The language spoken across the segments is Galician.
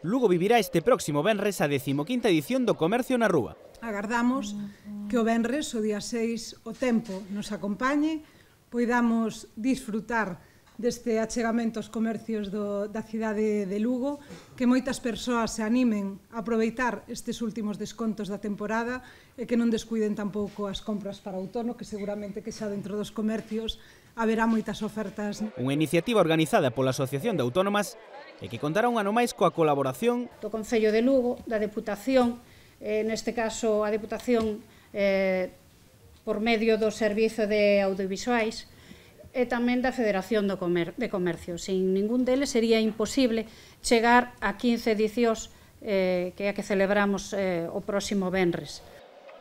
Lugo vivirá este próximo venres a 15ª edición do Comercio na Rúa. Agardamos que o venres, o día 6, o tempo nos acompañe, poidamos disfrutar deste achegamento aos comercios da cidade de Lugo, que moitas persoas se animen a aproveitar estes últimos descontos da temporada e que non descuiden tampouco as compras para outono, que seguramente que xa dentro dos comercios haberá moitas ofertas. Unha iniciativa organizada pola Asociación de Autónomas e que contará un ano máis coa colaboración do Concello de Lugo, da Deputación, neste caso a Deputación por medio do Servizo de Audiovisuais, e tamén da Federación de Comercio. Sin ningún deles sería imposible chegar a 15 edicións que é a que celebramos o próximo venres.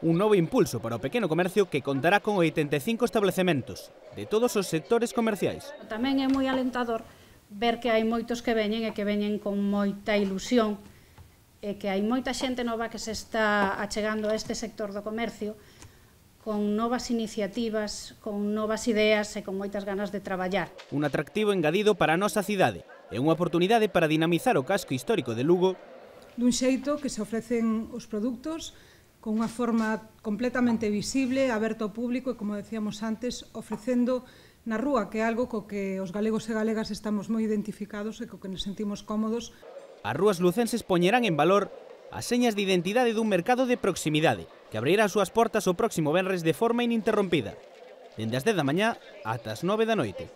Un novo impulso para o pequeno comercio que contará con 85 establecementos de todos os sectores comerciais. Tamén é moi alentador ver que hai moitos que veñen e que veñen con moita ilusión e que hai moita xente nova que se está achegando a este sector do comercio con novas iniciativas, con novas ideas e con moitas ganas de traballar. Un atractivo engadido para a nosa cidade e unha oportunidade para dinamizar o casco histórico de Lugo dun xeito que se ofrecen os produtos con unha forma completamente visible, aberto ao público e, como decíamos antes, ofrecendo na rúa, que é algo co que os galegos e galegas estamos moi identificados e co que nos sentimos cómodos. As rúas lucenses poñerán en valor as señas de identidade dun mercado de proximidade que abrirá as súas portas o próximo venres de forma ininterrompida, dende as 10 da mañá ata as 9 da noite.